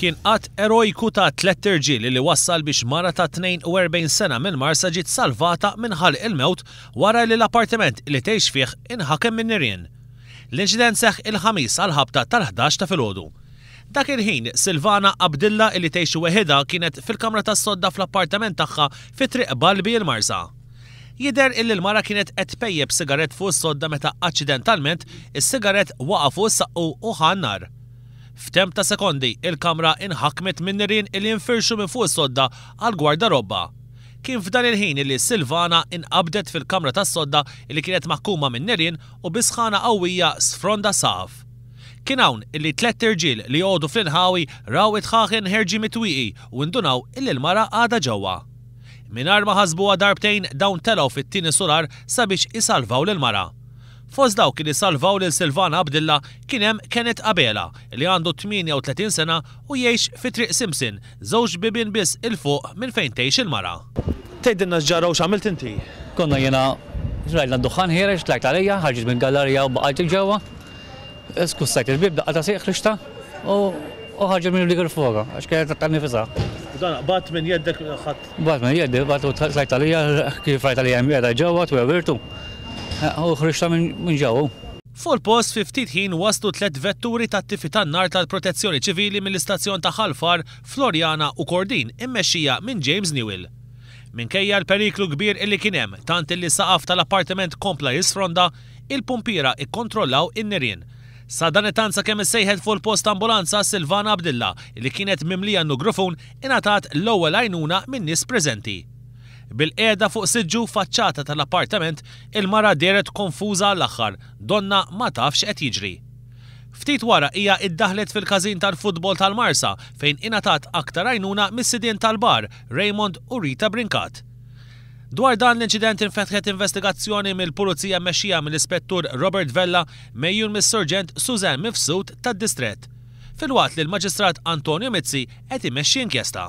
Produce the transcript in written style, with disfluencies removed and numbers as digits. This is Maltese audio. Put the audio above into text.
Kien att erojku ta' tlett irġiel li wassal biex mara ta' 42 sena mill-Marsa ġiet salvata minn ħalq il-mewt wara li l-appartiment li tgħix fih inħakem min-nirien. L-inċident seħħ il-Ħamis għall-ħabta tal-11 ta' filgħodu. Dak il-ħin, Silvana Abdilla li tgħix weħidha kienet fil-kamra tas-sodda fl-appartament tagħha fi Triq Balbi l-Marsa. Jidher illi l-mara kienet qed tpejjep sigarett fuq is-sodda meta aċċidentalment is-sigarett waqa' fuq is-saqqu u ħa n-nar. F'temp ta' sekondi, il-kamra inħakmet minn nirien illi nfirxu minn fuq is-sodda għall-gwardarobba. Kien f'dan il-ħin illi Silvana inqabdet fil-kamra tas-sodda illi kienet maħkuma minn nirien u bi sħana qawwija sfronda s-saqaf. Kien hawn illi tlett irġiel li joqogħdu fl-inħawi raw id-dħaħen ħerġin mit-twieqi u indunaw illi l-mara għadha ġewwa. Mingħajr ma ħasbuha darbtejn dawn telgħu fit-tieni sular sabiex isalvaw lill-mara. Fost dawk li salvaw lil Silvana Abdilla kien hemm Kenneth Abela li għandu 38 sena u jgħix fi Triq Simpson, żewġ bibien biss 'il fuq minn fejn tgħix il-mara. Tgħidilna x'ġara u x'għamilt inti? Konna jiena rajna d-duħħan ħiereġ, tlajt għalija, ħarġet mill-gallarija u baqajt 'il ġewwa. Skussajt il-bieb, daqqa ta' sieq ħriġtha u ħarġet minn dik il-foga għax kienet ta' nifisha. U dan qbadt minn jeddek ħadt. Qbadt minn jeddi, qbadt u tlajt għalija, kif rajtha li hemm qiegħda ġewwa twewwirtu u ħriġtha minn ġewwa. Fuq il-post fi ftit ħin waslu tlett vetturi tat-tifi tan-nar tal-Protezzjoni Ċivili mill-istazzjon ta' Ħal Far, Floriana u Kordin immexxija minn James Newell. Minkejja l-periklu kbir illi kien hemm, tant illi s-saqaf tal-appartiment kompla jisfronda, Il-pumpiera ikkontrollaw in-nirien. Sadanittant sakemm issejħet fuq il-post ambulanza, Silvana Abdilla, li kienet mimlija nugrufun, ingħatat l-ewwel għajnuna min-nies preżenti. Bilqiegħda fuq siġġu faċċata tal-appartament, il-mara dehret konfuża għall-aħħar, donnha ma tafx x'qed jiġri. Ftit wara hija iddaħħlet fil-każin tal-futbol tal-Marsa fejn ingħatat aktar għajnuna mis-sidien tal-bar, Raymond u Rita Brincat. Dwar dan l-inċident infetħet investigazzjoni mill-Pulizija mmexxija mill-Ispettur Robert Vella megħjun mis-Surġent Suzanne Mifsud tad-Distrett. Filwaqt li l-Maġistrat Antonio Mizzi qed imexxi inkjesta.